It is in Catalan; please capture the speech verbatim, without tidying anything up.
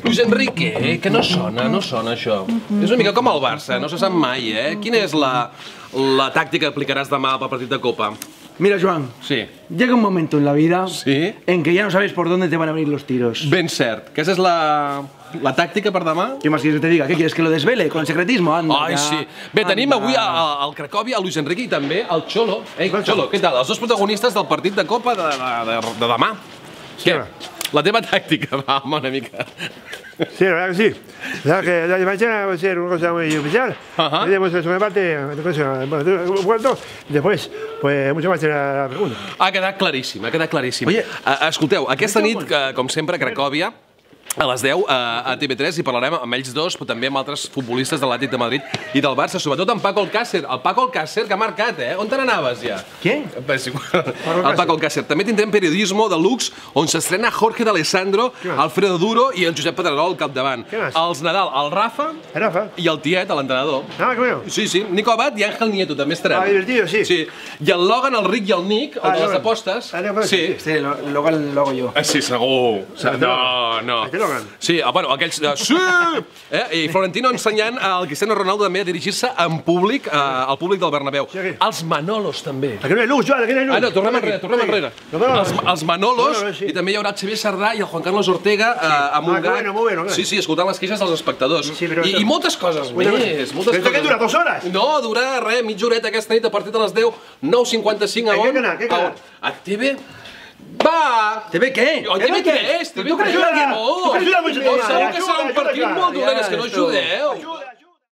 Luis Enrique, que no sona, no sona això. És una mica com el Barça, no se sap mai, eh? Quina és la, la tàctica que aplicaràs demà pel partit de Copa? Mira, Joan, sí. Llega un momento en la vida ¿Sí? en que ya no sabes por dónde te van a venir los tiros. Ben cert. Que esa és la, la tàctica per demà? ¿Qué más quieres que te diga? ¿Qué quieres que lo desvele con el secretismo? Anda, Ai, ya. sí. Bé, tenim Anda. avui al Cracòvia el Luis Enrique i també el Xolo. Ei, Xolo, què tal? Els dos protagonistes del partit de Copa de, de, de, de demà. Sí, Què? va. La teva tàctica, va, home, una mica. Sí, la verdad que sí. La verdad que la de mañana va a ser una cosa muy especial. Ajá. Tenemos la segunda parte, un cuarto, y después, pues mucho más en la segunda. Ha quedat claríssim, ha quedat claríssim. Oye, Uh, escolteu, aquesta nit, que, com sempre, a Cracòvia, a les deu a T V tres i parlarem amb ells dos, però també amb altres futbolistes de l'Atlètic de Madrid i del Barça, sobretot amb Paco Alcácer. El Paco Alcácer, que ha marcat, eh? On te n'anaves, ja? Què? És igual. El Paco Alcácer. També tindrem periodismo de luxe, on s'estrena Jorge D'Alessandro, Alfredo Duro i el Josep Pedrerol al capdavant. Què més? Els Nadal, el Rafa Rafa. i el Tiet, l'entrenador. Ah, qué bueno. Sí, sí, Nico Abad i Ángel Nieto també estaran. Ah, divertido, sí. Sí. I el Logan, el Rick i el Nick, el Ah, de les Logan. apostes. Ah, Logan. Sí. Sí, lo, luego lo hago yo. Ah, sí, segur. No, no. Este Logan. Sí, ah, bueno, aquells... Uh, sí! Eh? I Florentino ensenyant al Cristiano Ronaldo també a dirigir-se en públic, uh, al públic del Bernabéu. Sí, aquí. Els Manolos, també. Aquí no hay luz, Joan, aquí no hay luz. Ah, no, tornem enrere, tornem enrere. Los Manolos. Els, els Manolos, Manolos, sí. i també hi haurà el Xavier Sardà i el Juan Carlos Ortega uh, amb un Ah, que gat. bueno, muy bueno, clar. Sí, sí, escoltant les queixes dels espectadors. Sí, però I, això- I moltes coses Una cosa. més. Moltes Però esto coses. què dura, dos hores? No, durarà res, mitja horeta aquesta nit a partir de les deu, nou cinquanta-cinc a En què on? canal, què canal? A T V... Va! ¿Te ve qué? O T V tres, T V Tu creus tres, que- no! tu creus que la vull Segur ajudar, que serà un ajuda, partit ajuda, molt dolent, és que no ja, esto. ajudeu! Ayuda.